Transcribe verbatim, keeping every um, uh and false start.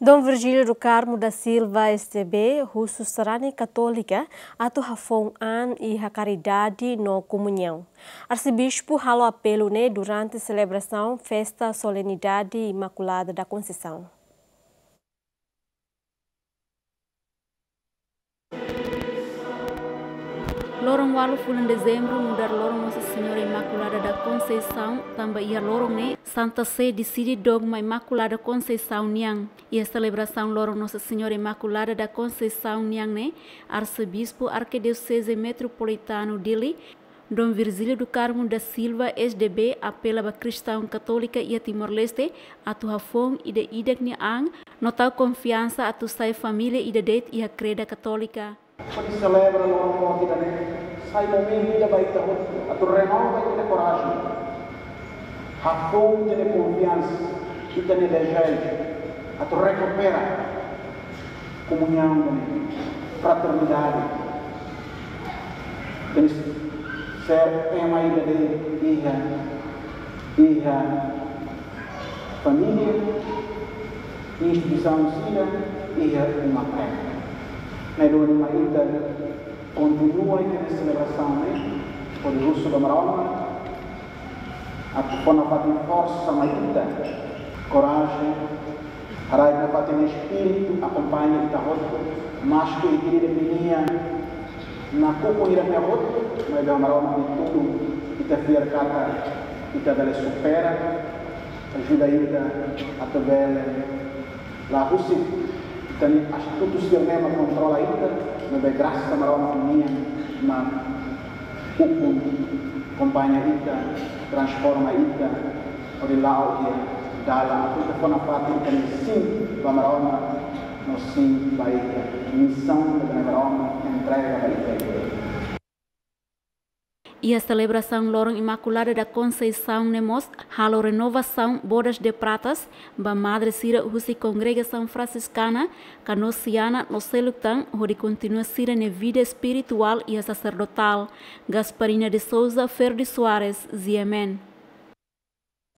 Dom Virgílio do Carmo da Silva, S D B, husu sarani Katólika atu hafoun an iha karidade no komuñaun. Arsebispu halo apelu ne'e durante selebrasaun festa Solenidade Imaculada da Conceição. Loron ualu fulan Dezembru nu'udar loron Nossa Senhora Imaculada da Conceição, tanba iha loron ne'e Santa Sé deside dogma Imaculada Conceição nian. Iha selebrasaun loron Nossa Senhora Imaculada da Conceição nian ne'e, Arsebispu Arkidioseze Metropolitanu Dili, Dom Virgílio do Carmo da Silva, S D B, apela ba kristaun katólika iha Timor-Leste atu hafoun ida-idak nia an no tau konfiansa atu sai família ida de'it iha kreda katólika. Hodi selebra loron morte ida-ne'e, sai momentu ida ba ita hotu atu renova ita-nia korajen, hafoun ita-nia konfiansa, ita-nia dezeju atu rekupera komuñaun, fraternidade, ita-nia ser ema ida de'it iha, iha família, instituisaun sira, iha uma-kain. Ne'e duni mai ita kontinua ita-nia selebrasaun ne'e, hodi husu ba Maromak atu fó nafatin forsa mai ita, korajen, haraik nafatin espíritu akompaña ita hotu, maske ita-nia vida nian nakukun ida-ne'e hotu, maibé Maromak nia tulun, ita fiar katak ita bele supera, ajuda ita atu bele la husik ita-nia astutu sira-ne'e mak kontrola ita, maibé grasa Maromak nian mak ukun, akompaña ita, transforma ita, hodi la'o iha dalan atu ita fó nafatin ita-nia sin ba Maromak, no sin ba ita-nia misaun ne'ebé Maromak entrega ba ita. Iha selebrasaun loron Imaculada da Conceição ne'e mós halo renovasaun bodas de pratas ba madre sira husi kongregasaun fransiskana, kanosiana no seluk tan, hodi kontinua sira-nia vida espirituál iha saserdotál. Gasparina de Souza, Ferdi Soares, G M N.